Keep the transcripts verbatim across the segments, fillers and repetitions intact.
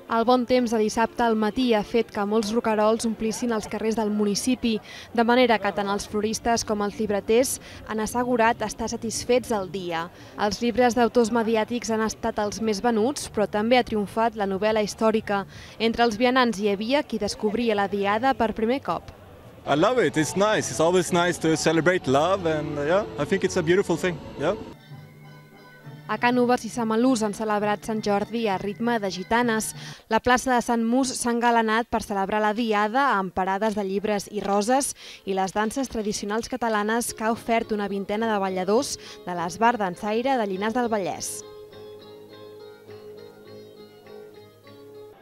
El bon temps de dissabte al matí ha fet que molts roquerols omplissin els carrers del municipi, de manera que tant els floristes com els llibreters han assegurat estar satisfets del dia. Els llibres d'autors mediàtics han estat els més venuts, però també ha triomfat la novel·la històrica. Entre els vianants hi havia qui descobria la Diada per primer cop. I love it. It's nice. It's always nice to celebrate love, and yeah, I think it's a beautiful thing. Yeah. A Cànoves i Samalús han celebrat Sant Jordi a ritme de gitanes. La plaça de Sant Mus s'ha engalanat per celebrar la Diada amb parades de llibres i roses i les danses tradicionals catalanes que ha ofert una vintena de balladors de l'Esbar Dansaire de Llinars del Vallès.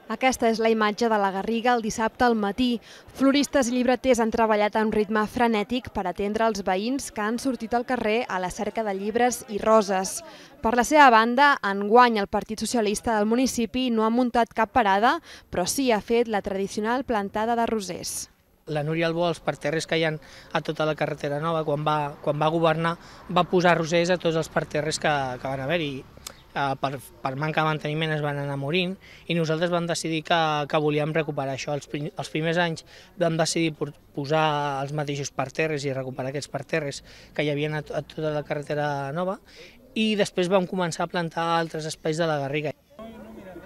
Aquesta és la imatge de la Garriga el dissabte al matí. Floristes i llibreters han treballat a un ritme frenètic per atendre els veïns que han sortit al carrer a la cerca de llibres i roses. Per la seva banda, enguany el Partit Socialista del municipi no ha muntat cap parada, però sí ha fet la tradicional plantada de rosers. La Núria Albó, als parterres que hi ha a tota la carretera nova, quan va, quan va governar, va posar rosers a tots els parterres que, que van haver-hi. Per, per manca de manteniment es van anar morint i nosaltres vam decidir que, que volíem recuperar això. Els, els primers anys vam decidir posar els mateixos parterres i recuperar aquests parterres que hi havia a, a tota la carretera nova i després vam començar a plantar altres espais de la Garriga.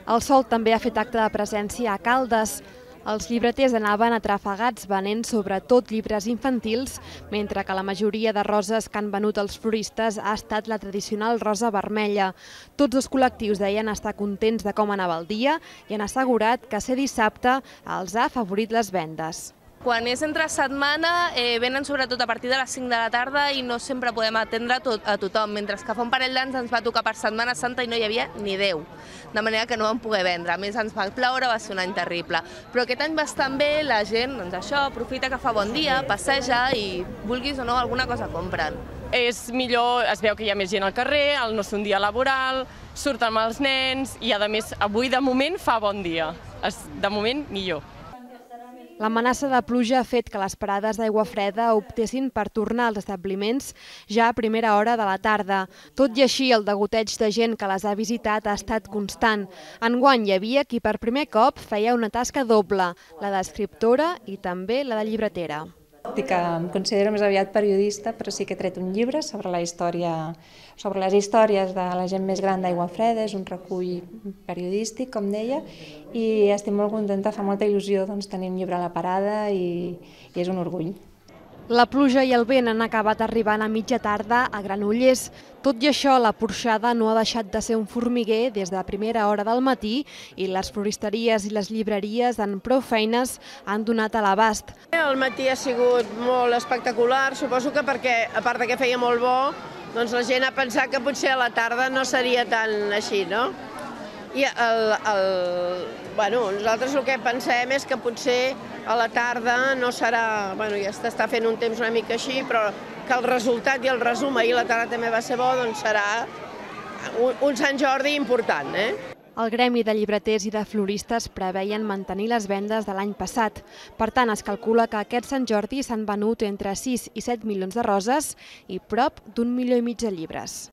El sol també ha fet acte de presència a Caldes. Els llibreters anaven atrafegats venent sobretot llibres infantils, mentre que la majoria de roses que han venut els floristes ha estat la tradicional rosa vermella. Tots els col·lectius deien estar contents de com anava el dia i han assegurat que ser dissabte els ha afavorit les vendes. Quan és entre setmana eh, venen sobretot a partir de les cinc de la tarda i no sempre podem atendre tot, a tothom, mentre que fa un parell d'anys ens va tocar per Setmana Santa i no hi havia ni deu, de manera que no vam poder vendre. A més ens va ploure, va ser un any terrible. Però aquest any bastant bé, la gent, doncs això, aprofita que fa bon dia, passeja i vulguis o no alguna cosa compren. És millor, es veu que hi ha més gent al carrer, el no és un dia laboral, surten amb els nens i a més avui de moment fa bon dia, de moment millor. L'amenaça de pluja ha fet que les parades d'aigua freda optessin per tornar als establiments ja a primera hora de la tarda. Tot i així, el degoteig de gent que les ha visitat ha estat constant. Enguany hi havia qui per primer cop feia una tasca doble, la d'escriptora i també la de llibretera. Dic que em considero més aviat periodista, però sí que he tret un llibre sobre la història, sobre les històries de la gent més gran d'Aigua Freda. És un recull periodístic, com deia, i estic molt contenta, fa molta il·lusió doncs, tenir un llibre a la parada i, i és un orgull. La pluja i el vent han acabat arribant a mitja tarda a Granollers. Tot i això, la porxada no ha deixat de ser un formiguer des de primera hora del matí i les floristeries i les llibreries amb prou feines han donat a l'abast. El matí ha sigut molt espectacular, suposo que perquè, a part que feia molt bo, doncs la gent ha pensat que potser a la tarda no seria tan així, no? I el, el, bueno, nosaltres el que pensem és que potser a la tarda no serà, bueno, ja s'està fent un temps una mica així, però que el resultat i el resum, ahir la tarda també va ser bo, doncs serà un, un Sant Jordi important, eh? El gremi de llibreters i de floristes preveien mantenir les vendes de l'any passat. Per tant, es calcula que aquest Sant Jordi s'han venut entre sis i set milions de roses i prop d'un milió i mig de llibres.